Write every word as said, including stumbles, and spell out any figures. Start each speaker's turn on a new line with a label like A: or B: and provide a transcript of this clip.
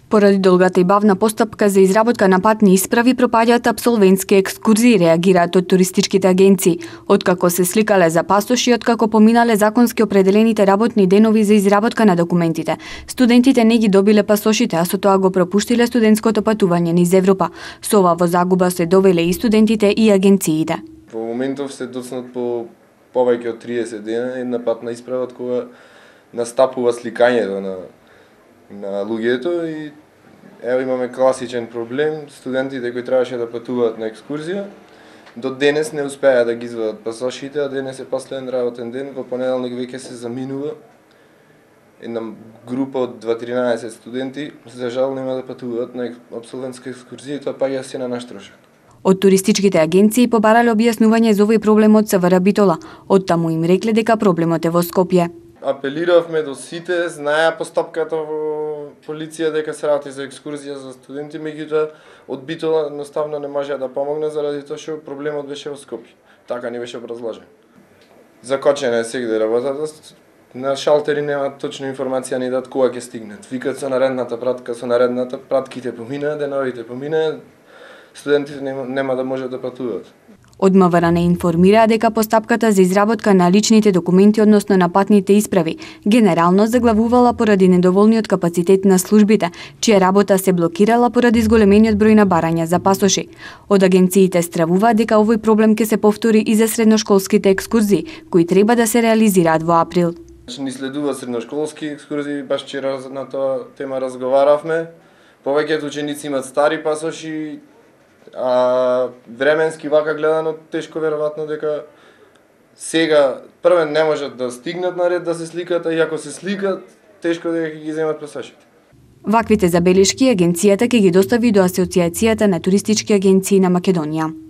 A: Поради долгата и бавна постапка за изработка на патни исправи, пропаѓаат апсолвентски екскурзии, реагираат од туристичките агенции. Откако се сликале за пасоши, откако поминале законски определените работни денови за изработка на документите, студентите не ги добиле пасошите, а со тоа го пропуштиле студентското патување низ Европа. Со ова во загуба се довеле и студентите и агенциите.
B: Во моментов се доцнат по повеќе од триесет дена една патна исправа од кога настапува сликањето на на луѓето и ево имаме класичен проблем. Студентите кои требаше да патуваат на екскурзија до денес не успеа да ги извадат пасошите, а денес е последен работен ден, во понеделник веќе се заминува. Една група од дваесет студенти за жал нема да патуваат на апсолвентска екскурзија, тоа паѓа се на наш трошок.
A: Од туристичките агенции побарале објаснување за овој проблем од СВР Битола. Оттаму им рекле дека проблемот е во Скопје.
B: Апелиравме до сите, знаеа постапката во полиција дека се работи за екскурзија за студенти, меѓутоа од Битола едноставно не можеа да помогне заради тоа што проблемот беше во Скопје. Така ни беше образложен. Закочена е сегде работата. На шалтери нема точна информација ни дат кога ќе стигнат. Викат со наредната пратка, со наредната пратките поминаа, деновите поминаа, студентите нема, нема да можат да патуваат.
A: Од МВР не информираа дека постапката за изработка на личните документи, односно на патните исправи, генерално заглавувала поради недоволниот капацитет на службите, чија работа се блокирала поради зголемениот број на барања за пасоши. Од агенциите стравуваат дека овој проблем ќе се повтори и за средношколските екскурзии, кои треба да се реализираат во април.
B: Ни следува средношколски екскурзии, баш вчера на тоа тема разговаравме. Повеќето ученици имаат стари пасоши, а временски вака гледано тешко веројатно дека сега првен не можат да стигнат на ред да се сликат, а и ако се сликат, тешко дека ги земат пасошите.
A: Ваквите забелешки агенцијата ќе ги достави до Асоциацијата на туристички агенции на Македонија.